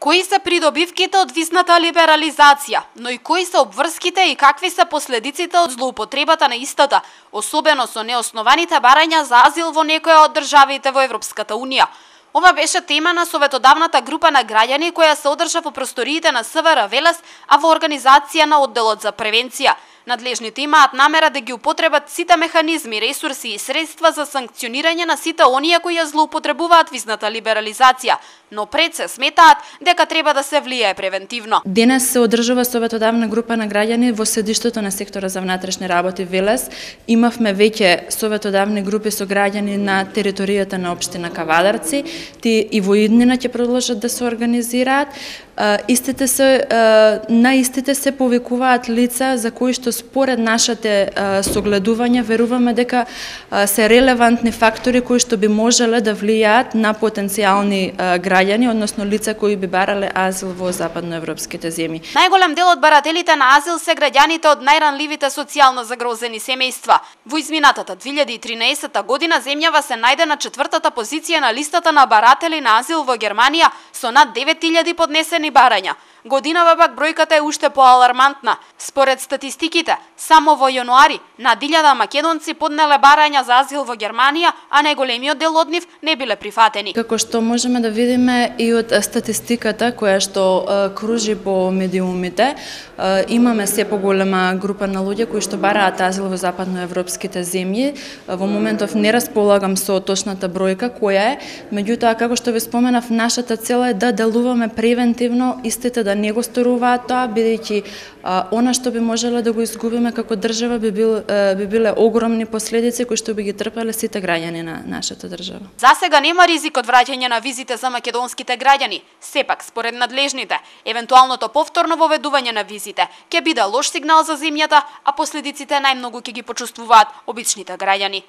Кои се придобивките од визната либерализација, но и кои се обврските и какви се последиците од злоупотребата на истата, особено со неоснованите барања за азил во некоја од државите во Европската Унија? Ова беше тема на советодавната група на граѓани која се одржа во просториите на СВР Велес, а во организација на одделот за превенција. Надлежните имаат намера да ги употребат сите механизми, ресурси и средства за санкционирање на сите оние кои ја злоупотребуваат визната либерализација, но пред се сметаат дека треба да се влијае превентивно. Денес се одржува советодавна група на граѓани во седиштето на сектора за внатрешни работи Велес. Имавме веќе советодавни групи со граѓани на територијата на општина Кавадарци, тие и во иднина ќе продолжат да се организираат. На истите се повикуваат лица за кои што според нашите согледувања веруваме дека се релевантни фактори кои што би можеле да влијаат на потенцијални граѓани, односно лица кои би барале азил во западноевропските земји. Најголем дел од барателите на азил се граѓаните од најранливите социјално загрозени семејства. Во изминатата 2013 година земјава се најде на 4-та позиција на листата на баратели на азил во Германија со над 9000 поднесени барања. Годинава пак бројката е уште поалармантна. Според статистиките, само во јануари над 1000 македонци поднеле барања за азил во Германија, а најголемиот дел од нив не биле прифатени. Како што можеме да видиме и од статистиката која што кружи по медиумите, имаме се поголема група на луѓе кои што бараат азил во западноевропските земји. Во моментов не располагам со точната бројка која е, меѓутоа како што ви споменав, нашата цел е да делуваме превентивно, истите да не го сторуваат тоа, бидејќи она што би можеле да го изгубиме како држава би биле огромни последици кои што би ги трпеле сите граѓани на нашата држава. За сега нема ризик од враќање на визите за македонските граѓани. Сепак, според надлежните, евентуалното повторно воведување на визите ќе биде лош сигнал за земјата, а последиците најмногу ќе ги почувствуваат обичните граѓани.